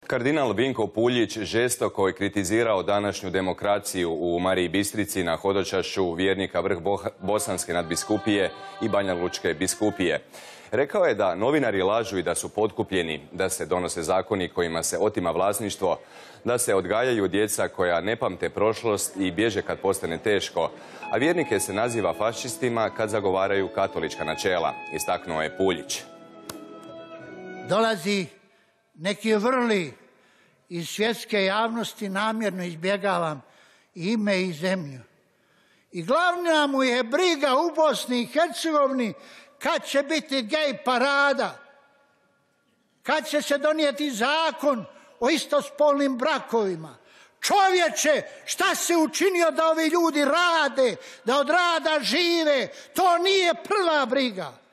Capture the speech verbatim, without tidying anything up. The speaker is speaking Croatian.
Kardinal Vinko Puljić žestoko je kritizirao današnju demokraciju u Mariji Bistrici na hodočašću vjernika vrh Bosanske nadbiskupije i Banja Lučke biskupije. Rekao je da novinari lažu i da su potkupljeni, da se donose zakoni kojima se otima vlasništvo, da se odgajaju djeca koja ne pamte prošlost i bježe kad postane teško, a vjernike se naziva fašistima kad zagovaraju katolička načela, istaknuo je Puljić. Dolazi neki vrli iz svjetske javnosti, namjerno izbjegavam ime i zemlju. I glavna mu je briga u Bosni i Hercegovini kad će biti gej parada, kad će se donijeti zakon o istospolnim brakovima. Čovječe, šta se učinio da ovi ljudi rade, da od rada žive? To nije prva briga.